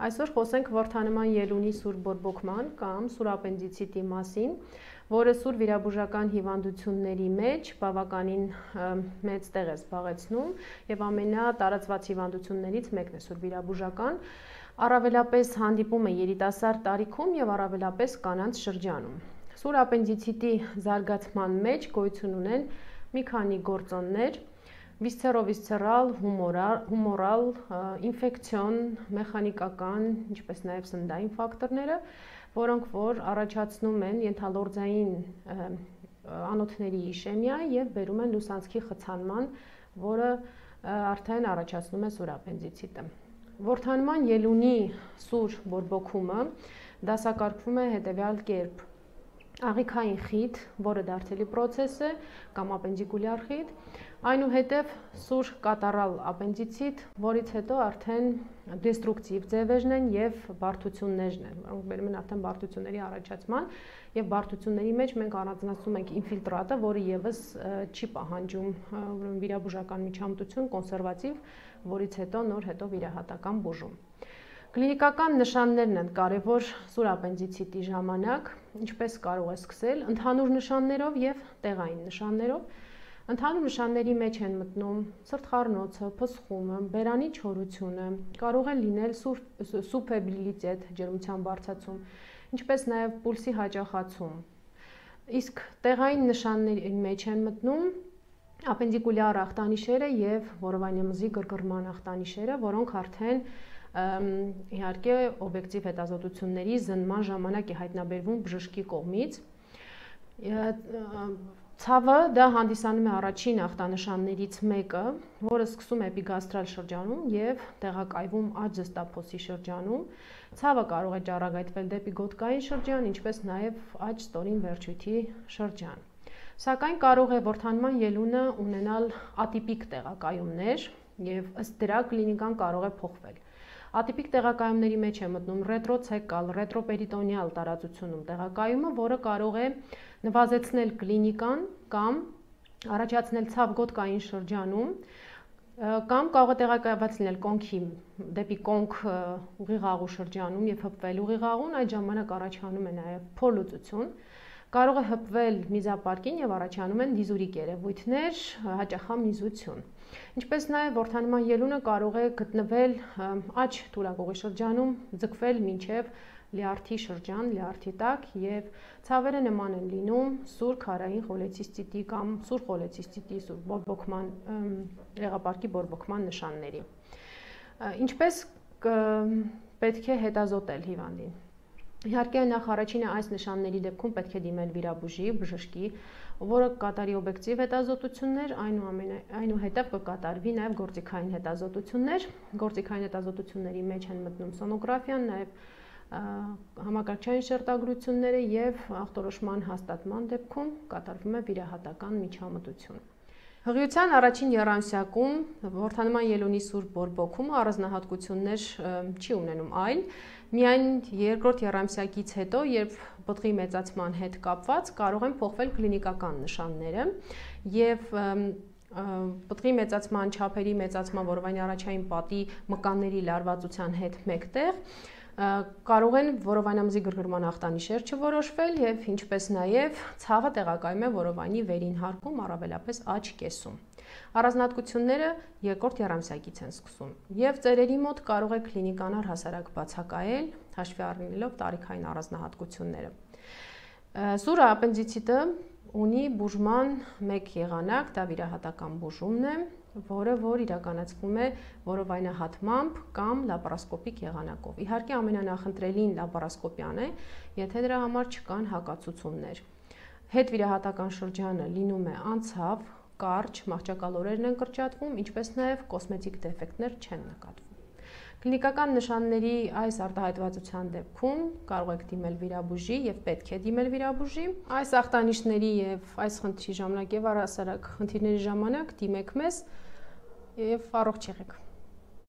Այսօր խոսենք որդանման ելունի սուր բորբոքման կամ սուր ապենդիցիտի մասին, որը սուր վիրաբուժական հիվանդությունների մեջ բավականին մեծ տեղ է զբաղեցնում եւ ամենատարածված հիվանդություններից մեկն է սուր վիրաբուժական, առավելապես հանդիպում է երիտասարդ տարիքում եւ առավելապես կանանց շրջանում։ Սուր ապենդիցիտի զարգացման մեջ գոյություն ունեն մի քանի գործոններ, վիսցերովիսցերալ, հումորալ, ինֆեկցիոն, մեխանիկական, ինչպես նաև սննդային ֆակտորները, որոնք որ առաջացնում են ենթալորձային անոթների իշեմիա եւ բերում են լուսանցքի խցանման, որը արդեն առաջացնում է սուր ապենդիցիտը։ Որդանման ելունի սուր բորբոքումը դասակարգվում է հետեւյալ կերպ. աղիքային խիտ, որը դարձելի պրոցես է, կամ ապենդիկուլյար խիտ, այնուհետև սուր կատարալ ապենդիցիտ, որից հետո արդեն դեստրուկտիվ ձևերն են եւ բարդություններն են, որոնք բերում են արդեն բարդությունների առաջացման եւ բարդությունների մեջ մենք առանձնացնում ենք ինֆիլտրատը, որը եւս չի պահանջում վիրաբուժական միջամտություն, կոնսերվատիվ, որից հետո նոր վիրահատական բուժում։ Կլինիկական նշաններն են կարևոր սուր ապենդիցիտի ժամանակ, ինչպես կարող է սկսել ընդհանուր նշաններով եւ տեղային նշաններով։ Ընդհանուր նշանների մեջ են մտնում սրտխառնոցը, փսխումը, բերանի չորությունը, կարող է լինել սուբֆեբրիլիտետ, ջերմության բարձրացում, ինչպես նաեւ պուլսի հաճախացում։ Իսկ տեղային նշանների մեջ են մտնում ապենդիկուլյար ախտանիշերը եւ որովայնամզի գրգռման ախտանիշերը, որոնք արդեն իհարկե օբյեկտիվ հետազոտությունների զննման ժամանակ է հայտնաբերվում բժշկի կողմից։ Ցավը դա հանդիսանում է առաջին ախտանշաններից մեկը, որը սկսում է էպիգաստրալ շրջանում եւ տեղակայվում աջ զստափոսի շրջանում։ Ցավը կարող է ճառագայթվել դեպի գոտկային շրջան, ինչպես նաեւ աջ ստորին վերջույթի շրջան։ Սակայն կարող է որդանման ելունը ունենալ ատիպիկ տեղակայումներ եւ ըստ դրա կլինիկան կարող է փոխվել։ Ատիպիկ տեղակայումների մեջ է մտնում ռետրոցեկալ, ռետրոպերիտոնեալ տարածությունում տեղակայումը, որը կարող է նվազեցնել կլինիկան կամ առաջացնել ցավ գոտկային շրջանում, կամ կարող է տեղակայված լինել կոնքի դեպի կոնք ուղիղաղու շրջանում եւ հպվել ուղիղաղուն, այդ ժամանակ առաջանում է նաեւ փորլուծություն, կարող է հպվել միզապարկին եւ առաջանում են դիզուրիկ երևույթներ, հաճախամիզություն։ Ինչպես նաև որդանման ելունը կարող է գտնվել աջ թույլակողի շրջանում, ձգվել մինչև լյարդի շրջան, լյարդի տակ եւ ցավերը նման են լինում սուր քարային խոլեցիստիտի կամ սուր խոլեցիստիտի սուր բորբոքման եղապարկի բորբոքման նշանների։ Ինչպես պետք է հետազոտել հիվանդին։ Իհարկե նախ առաջինը այս նշանների դեպքում պետք է դիմել վիրաբուժի, բժշկի, որը կկատարի օբյեկտիվ հետազոտություններ, այնուհետև կկատարվի նաև գործիքային հետազոտություններ։ Գործիքային հետազոտությունների մեջ են մտնում սոնոգրաֆիան, նաև համակարգչային շերտագրությունները եւ ախտորոշման հաստատման դեպքում կատարվում է վիրահատական միջամտություն։ Հղիության առաջին եռամսյակում որդանման ելունի սուր բորբոքումը առանձնահատկություններ չի ունենում, այլ միայն երկրորդ եռամսյակից հետո, երբ պտղի մեծացման հետ կապված կարող են փոխվել կլինիկական նշանները եւ պտղի մեծացման, չափերի մեծացման, որովայնի առաջային պատի մկանների լարվածության հետ մեկտեղ կարող են որովայնամզի գրգռման ախտանիշեր չորոշվել եւ ինչպես նաեւ ցավը տեղակայում է որովայնի վերին հարկում, առավելապես աջ կեսում։ Առանձնահատկությունները երկրորդ եռամսյակից են սկսում եւ ծերերի մոտ կարող է կլինիկան առհասարակ բացակայել, հաշվի առնելով տարիքային առանձնահատկությունները։ Սուր ապենդիցիտը ունի բուժման մեկ եղանակ, դա վիրահատական բուժումն է, որը իրականացվում է որովայնահատմամբ կամ լապարասկոպիկ եղանակով։ Իհարկե ամենանախընտրելին լապարասկոպիան է, եթե դրա համար չկան հակացուցումներ։ Հետվիրահատական շրջանը լինում է անցավ, կարճ, մահճակալորերն են կրճատվում, ինչպես նաև կոսմետիկ դեֆեկտներ չեն նկատվում։ Կլինիկական նշանների այս արտահայտվածության դեպքում կարող եք դիմել վիրաբուժի եւ պետք է դիմել վիրաբուժի։ Այս ախտանիշների եւ այս խնդրի ժամանակ եւ առհասարակ խնդիրների ժամանակ դիմեք մեզ եւ առողջ եղեք։